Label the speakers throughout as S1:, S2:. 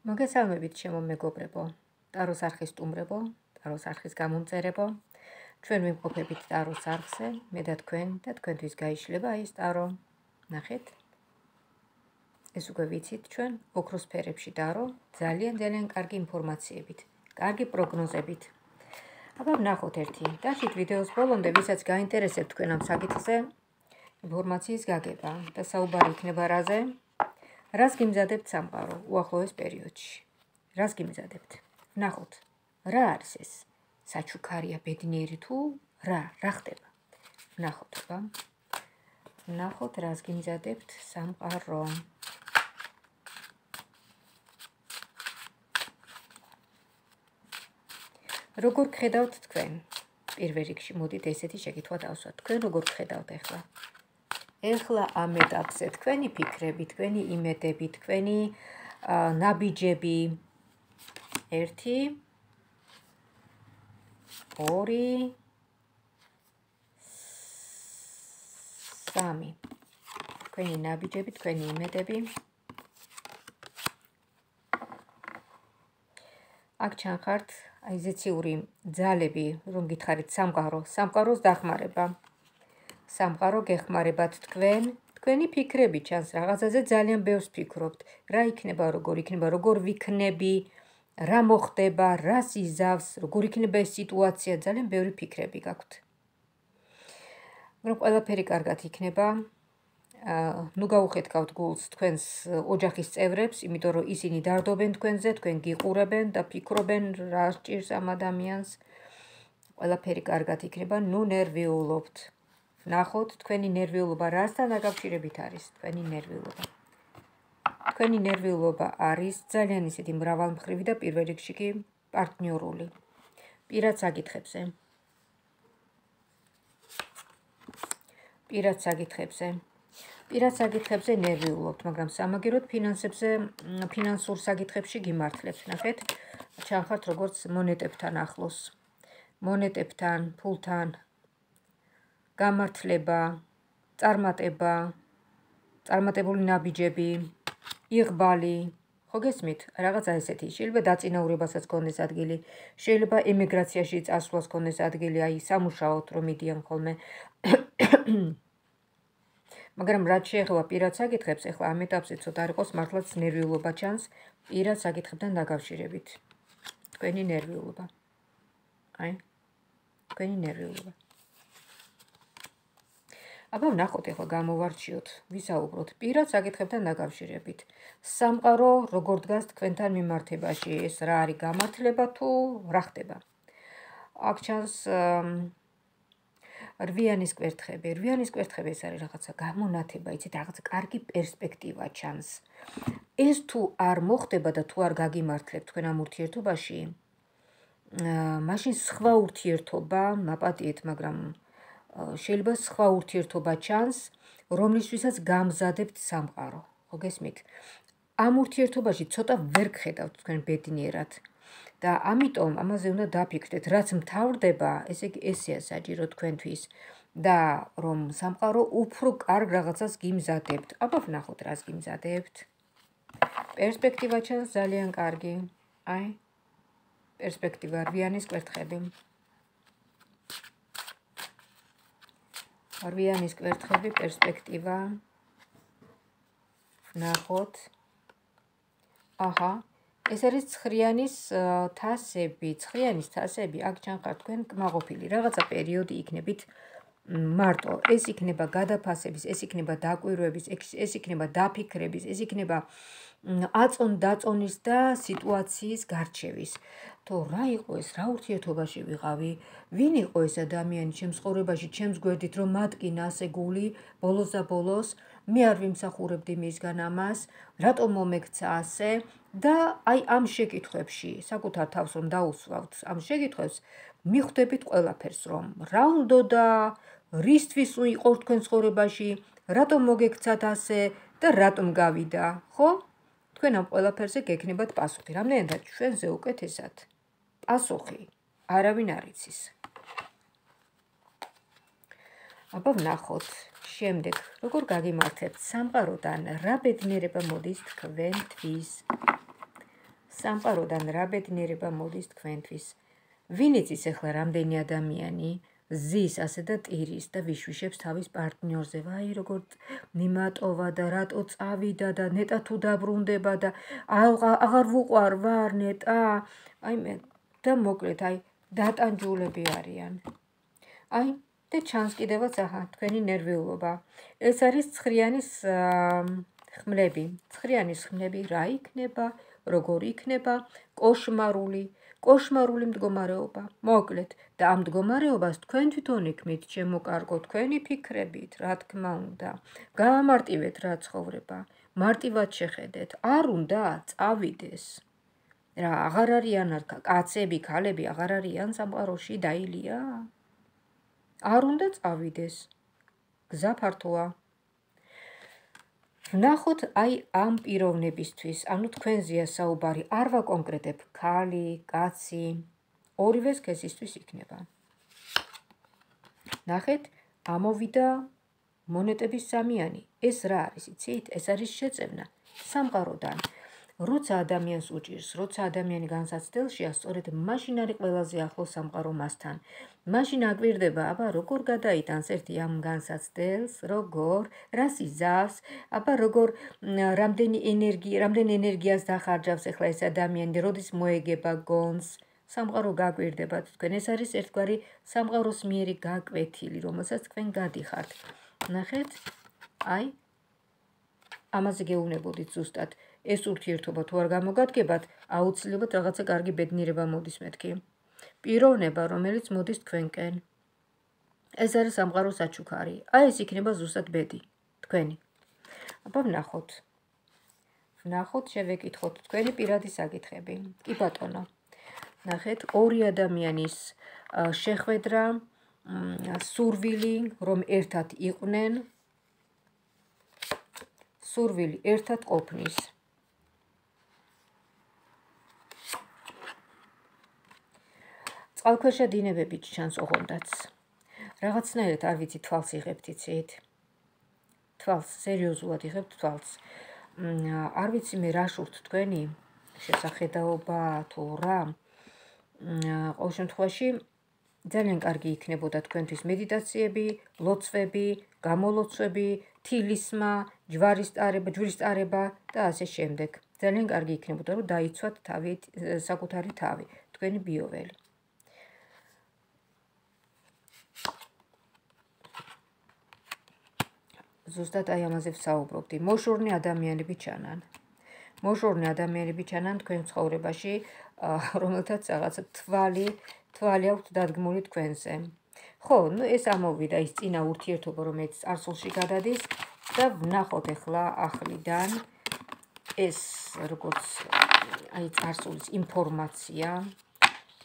S1: მოგესალმებით ჩემო მეგობრებო, ტაროს არხის სტუმრებო, ტაროს არხის გამომწერებო. ჩვენ ვიმყოფებით ტაროს არხზე, მე და თქვენთვის გაიშლება ეს ტარო. ნახეთ. ეს უკვე ვიცით ჩვენ ოქროს ფერებში ტარო, ძალიან კარგი ინფორმაციებით, კარგი პროგნოზებით. აბა ვნახოთ ერთი. დაშით ვიდეოს ბოლომდე, ვისაც გაინტერესებთ თქვენ ამ საკითხზე, ინფორმაციის გაგება და საუბარი იქნება რაზე? რას გიმზადებთ სამყარო უახლოეს პერიოდში? რას გიმზადებთ? ვნახოთ, რა არის ეს? საჩუქარია, ბედნიერი თუ რა ხდება? ვნახოთ, აბა. ვნახოთ, რას გიმზადებთ სამყარო. როგორ გხედავთ თქვენ? პირველ რიგში მოდით ესეთი შეკითხვა დავსვათ. თქვენ როგორ გხედავთ ახლა? ეხლა ამ ეტაპზე თქვენი ფიქრები, თქვენი იმედები, თქვენი ნაბიჯები 1 2 3 თქვენი ნაბიჯები, თქვენი იმედები. აქ ჩანხართ აი ზეციური ძალები, რომ გითხარით სამყაროს დახმარება. სამყარო გეხმარებათ თქვენი ფიქრები ჩანს რაღაცაზე ძალიან ბევრს ფიქრობთ. რა იქნება, როგორ ვიქნები, რა მოხდება, რას იზავს, როგორ იქნება ეს სიტუაცია, ძალიან ბევრი ფიქრები გაქვთ. მაგრამ ყველაფერი კარგად იქნება. ნუ გაუხეთქავთ გულს თქვენს ოჯახის წევრებს, იმიტომ რომ ისინი დარდობენ თქვენზე, თქვენ გიყურებენ და ფიქრობენ რა სჭირს ამ ადამიანს. ყველაფერი კარგად იქნება, ნუ ნერვიულობთ. ნახოთ, თქვენი ნერვიულობა რასთან დაკავშირებით არის? თქვენი ნერვიულობა არის ძალიან ისეთი მრავალმხრივი და პირველ რიგში კი პარტნიორული. პირად საკითხებზე ნერვიულობთ, მაგრამ სამაგეროდ ფინანსურ საკითხებში გიმართლებთ. ნახეთ, ჩანხართ როგორც მონეტებთან ახლოს. მონეტებთან, ფულთან, გამართლება, წარმატებული ნაბიჯები, იღბალი, ხო გესმით? რაღაცა ესეთი. შეიძლება დაწინაურებასაც გქონდეს ადგილი, შეიძლება ემიგრაციაში წასვლას გქონდეს ადგილი, აი სამუშაოდ რომ მიდიან ხოლმე. მაგრამ რაც შეეხება პირად საკითხებს, ეხლა ამ ეტაპზე ცოტა არ იყოს მართლაც ნერვიულობა ჩანს პირად საკითხებთან დაკავშირებით. თქვენი ნერვიულობა. თქვენი ნერვიულობა. აბა ვნახოთ, ეხლა გამოვარჩიოთ, ვისაუბროთ პირად საკითხებთან დაკავშირებით. სამყარო როგორ დგას თქვენთან მიმართებაში, ეს რა არის გამართლება თუ რა ხდება? აქ ჩანს რვიანის კვერთხები. რვიანის კვერთხები ეს არის რაღაცა გამონათება, იცით, რაღაცა კარგი პერსპექტივა ჩანს. ეს თუ არ მოხდება და თუ არ გაგიმართლებთ თქვენ ამ ურთიერთობაში, მაშინ სხვა ურთიერთობა, მაპატიეთ, მაგრამ შეიძლება სხვა ურთიერთობა ჩანს, რომლისთვისაც გამზადებთ სამყარო. ხო გესმით? ამ ურთიერთობაში ცოტა ვერ გხედავთ თქვენ ბედნიერად. და ამიტომ ამაზე უნდა დაფიქრდეთ, რაც მთავრდება, ესე იგი ესეა საჭირო თქვენთვის და რომ სამყარო უფრო კარგ რაღაცას გიმზადებთ. აბა ვნახოთ, რას გიმზადებთ. პერსპექტივა ჩანს ძალიან კარგი. პერსპექტივა, რვიანის კვერთხები. რვიანის კვერთხები, პერსპექტივა. ვნახოთ. ეს არის ცხრიანის თასები, აქ ჩანხართ თქვენ კმაყოფილი. რაღაცა პერიოდი იქნებით მარტო. ეს იქნება გადაფასების, ეს იქნება დაკვირვების, ეს იქნება დაფიქრების, ეს იქნება აწონ-დაწონის და სიტუაციის გარჩევის. თუ რა იყო ეს, რა ურთიერთობაში ვიყავი, ვინ იყო ეს ადამიანი ჩემს ცხოვრებაში, ჩემს გვერდით, რომ მატკინა ასე გული, ბოლოს და ბოლოს, მე არ ვიმსახურებდი მისგან ამას, რატომ მომექცა ასე და აი ამ შეკითხვებში, საკუთარ თავს რომ დაუსვავთ ამ შეკითხვებს, მიხვდებით ყველაფერს, რომ რა უნდოდა, რისთვის იყო თქვენ ცხოვრებაში, რატომ მოგექცათ ასე და რატომ გავიდა, ხო? თქვენ ამ ყველაფერზე გექნებათ პასუხი. რამდენადაც ჩვენზე უკეთესად პასუხი არავინ არ იცის. აბა ვნახოთ, შემდეგ როგორ გაგიმართებთ სამყაროდან, რა ბედნიერება მოდის თქვენთვის. სამყაროდან რა ბედნიერება მოდის თქვენთვის. ვინ იცის ახლა რამდენი ადამიანი ზის ასე და ტირის და ვიშვიშებს თავის პარტნიორზე, ვაი როგორ მიმატოვა და რატო წავიდა და ნეტა თუ დაბრუნდება და აღარ ვუყვარ ვარ ნეტა, აი მე და მოკლედ აი დატანჯულები არიან. აი და ჩანს კიდევაც აჰა თქვენი ნერვიულობა. ეს არის ცხრიანის ხმლები. ცხრიანის ხმლები რა იქნება, როგორ იქნება, კოშმარული მდგომარეობა. მოკლედ და ამ მდგომარეობას თქვენ თვითონ იქმნით, ჩემო კარგო, თქვენი ფიქრებით, რა თქმა უნდა. გაამარტივეთ რა ცხოვრება. მარტივად შეხედეთ, არ უნდა წავიდეს. რა აღარ არიან კაცები, ქალები აღარ არიან სამყაროში დაილია? არ უნდა წავიდეს. გზა ფართოა. ვნახოთ აი ამ პიროვნებისთვის, ანუ თქვენზეა საუბარი, არ ვაკონკრეტებ ქალი, კაცი, ორივე სქესისთვის იქნება. ნახეთ, ამოვიდა მონეტების სამიანი. ეს რა არის, იცით? ეს არის შეწევნა სამყაროდან. როცა ადამიანს უჭირს, როცა ადამიანი განსაცდელშია, სწორედ მაშინ არის ყველაზე ახლოს სამყარო მასთან. მაშინ აკვირდება, აბა როგორ გადაიტანს ერთი ამ განსაცდელს, როგორ, რას იზავს, აბა როგორ რამდენი ენერგიას დახარჯავს ახლა ეს ადამიანი, როდის მოეგება გონს, სამყარო გაკვირდება თქვენ. ეს არის ერთგვარი სამყაროს მიერი გაკვეთილი, რომელსაც თქვენ გადიხართ. ნახეთ, აი ამაზე გეუბნებოდით ზუსტად. ეს ურთიერთობა თუ არ გამოგადგებათ, აუცილებლად რაღაცა კარგი ბედნიერება მოდის მეთქი. პიროვნება, რომელიც მოდის თქვენკენ. ეს არის სამყაროს საჩუქარი. აი ეს იქნება ზუსტად ბედი, თქვენი. აბა ვნახოთ. შევეკითხოთ თქვენი პირადი საკითხები. კი ბატონო. ნახეთ, ორი ადამიანის შეხვედრა, სურვილი, რომ ერთად იყვნენ, სურვილი ერთად ყოფნის. წყალქვეშა დინებები ჩანს ოღონდაც. რაღაცნაირად არ ვიცი თვალს იღებთ იცით? თვალს, სერიოზულად იღებთ თვალს. არ ვიცი მე რა შურთ თქვენი შესახედაობა თუ რა. ყოველ შემთხვევაში ძალიან კარგი იქნებოდა თქვენთვის მედიტაციები, ლოცვები, გამოლოცვები, თილისმა, ჯვრის ტარება და ასე შემდეგ. ძალიან კარგი იქნებოდა რომ დაიცვათ საკუთარი თავი, თქვენი ბიოველი. ზუსტად აი ამაზე ვსაუბრობდი. მოშორნე ადამიანები ჩანან თქვენ ცხოვრებაში, რომელთაც რაღაცა თვალი აქვთ დადგმული თქვენზე. ხო, ეს ამოვიდა ის წინა ურთიერთობა, რომელიც წარსულში გადადის და ვნახოთ ახლა ახლიდან ეს როგორც აი წარსულის ინფორმაცია,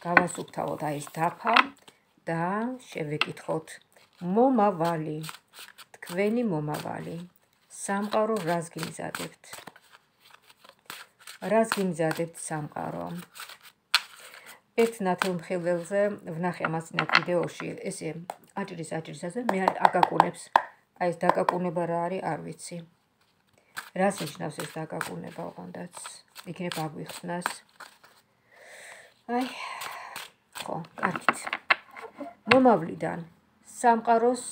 S1: გავასუფთავოთ აი ეს დაფა და შევეკითხოთ მომავალი. თქვენი მომავალი. სამყარო რას გიმზადებთ? რას გიმზადებთ სამყარო? ერთ ნათელმხილველზე ვნახე ამასინათ ვიდეოში, ესე აჭრისაზე, მე აკაკუნებს. აი ეს დაკაკუნება რა არის, არ ვიცი. რას ნიშნავს ეს დაკაკუნება ოღონდაც? იქნებ აგვიხსნას. აი, ხო, კარგით. მომავლიდან სამყაროს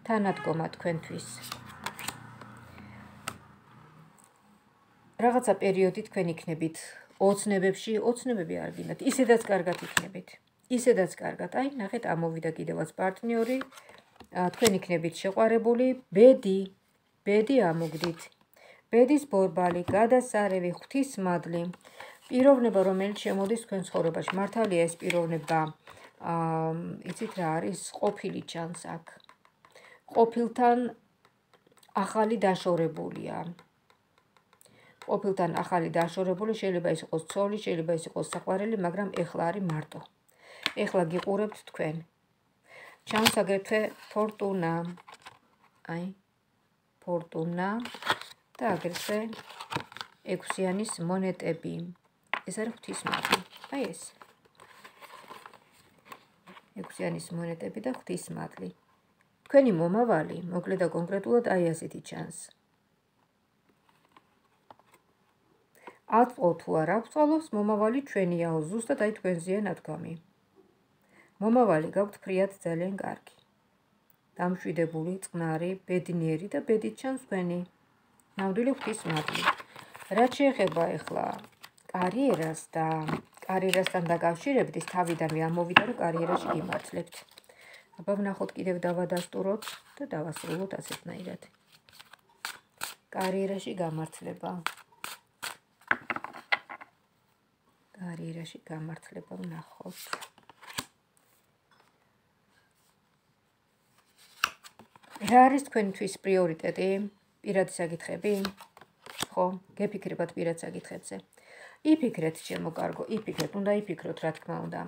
S1: თანადგომა თქვენთვის. რაღაცა პერიოდი თქვენ იქნებით ოცნებები არ გინდათ, ისედაც კარგად იქნებით. ისედაც კარგად. აი, ნახეთ, ამოვიდა კიდევაც პარტნიორი, თქვენ იქნებით შეყვარებული, ბედი ამოგდით. ბედის ბორბალი, გადასარევი, ღვთისმადლი, პიროვნება, რომელიც შემოდის თქვენ ცხოვრებაში. მართალია ეს პიროვნება, იცით რა არის, ყოფილი ჩანს აქ. ყოფილთან ახალი დაშორებულია. შეიძლება ის იყოს ცოლი, შეიძლება ის იყოს საყვარელი, მაგრამ ეხლა არის მარტო. ეხლა გიყურებთ თქვენ. ჩანს აგრეთვე ფორტუნა. აი, ფორტუნა და აგრეთვე 6-იანის მონეტები. ეს არის ღვთისმადლი. აი ეს. 6-იანის მონეტები და ღვთისმადლი. თქვენი მომავალი, მოკლედ და კონკრეტულად აი ასეთი ჩანს. აწყო თუ არ აღწყოლოს, მომავალი ჩვენიაო, ზუსტად აი თქვენზეა ნათქვამი. მომავალი გაქვთ ფრიად ძალიან კარგი. დამშვიდებული, წყნარი, ბედნიერი და ბედით ჩანს თქვენი. ნამდვილი ღვთის მადლი. რაც შეეხება ახლა კარიერას და კარიერასთან დაკავშირებით, ის თავიდანვე ამოვიდა, რომ კარიერაში გიმართლებთ. აბა ვნახოთ, კიდევ დავადასტუროთ და დავასრულოთ ასეთნაირად. კარიერაში გამართლება. კარიერაში გამართლება ვნახოთ. რა არის თქვენთვის პრიორიტეტი? პირადი საკითხები? ხო, გეფიქრებათ პირად საკითხებზე. იფიქრეთ, ჩემო კარგო, იფიქრეთ, უნდა იფიქროთ, რა თქმა უნდა.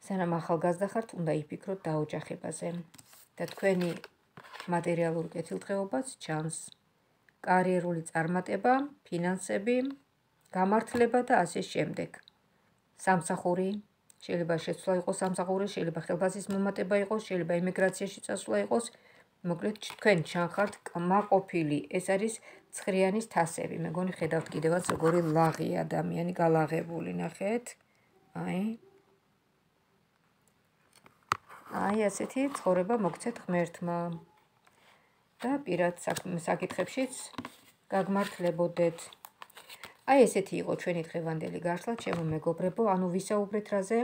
S1: სანამ ახალგაზრდა ხართ, უნდა იფიქროთ დაოჯახებაზე და თქვენი მატერიალური კეთილდღეობაც ჩანს. კარიერული წარმატება, ფინანსები, გამართლება და ასე შემდეგ. სამსახური, შეიძლება შეცვლა იყოს სამსახური, შეიძლება ხელფასის მომატება იყოს, შეიძლება ემიგრაციაში წასვლა იყოს. მოკლედ, თქვენ ჩანხართ კმაყოფილი, ეს არის ცხრიანის თასები. მეგონი ხედავთ კიდევაც როგორი ლაღი ადამიანი გალაღებული, ნახეთ. აი ასეთი ცხოვრება მოგცეთ ღმერთმა და პირად საკითხებშიც გაგმართლებოდეთ. აი ესეთი იყო ჩვენი დღევანდელი გაშლა, ჩემო მეგობრებო, ანუ ვისაუბრეთ რაზე?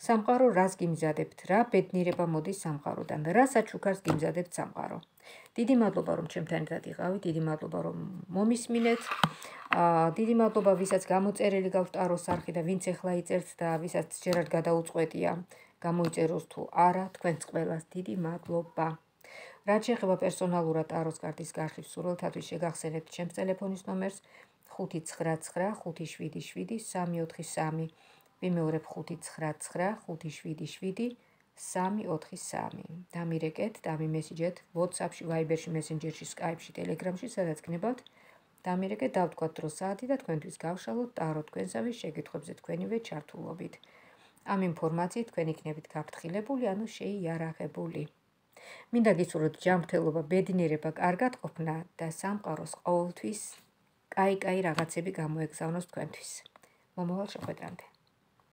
S1: სამყარო რას გიმზადებთ, რა ბედნიერება მოდის სამყაროდან, რა საჩუქარს გიმზადებთ სამყარო. დიდი მადლობა, რომ ჩემთან ერთად იყავით, დიდი მადლობა, რომ მომისმინეთ. დიდი მადლობა, ვისაც გამოწერილი გაქვთ ტაროს არხი და ვინც ახლა იწერთ და ვისაც ჯერად გადაუწყვეტია გამოიწეროს თუ არა, თქვენს ყველას დიდი მადლობა. რაც შეეხება პერსონალურად ტაროს კარტის გაშლის სურვილთათვის შეგახსენებთ ჩემს ტელეფონის ნომერს 599577343. ვიმეორებ 599577343. დამირეკეთ, დამიმესიჯეთ WhatsApp-ში, Viber-ში, Messenger-ში, Skype-ში, Telegram-ში, სადაც გნებავთ. დამირეკეთ, დავთქვათ დრო საათი და თქვენთვის გავშალოთ ტარო თქვენსავე შეკითხვებზე თქვენივე ჩართულობით. ამ ინფორმაციით თქვენ იქნებით გაფრთხილებული, ანუ შეიარაღებული. მინდა გისურვოთ ჯანმრთელობა, ბედნიერება, კარგად ყოფნა და სამყაროს ყოველთვის კაი რაღაცები გამოეგზავნოს თქვენთვის. მომავალ შეხვედრამდე.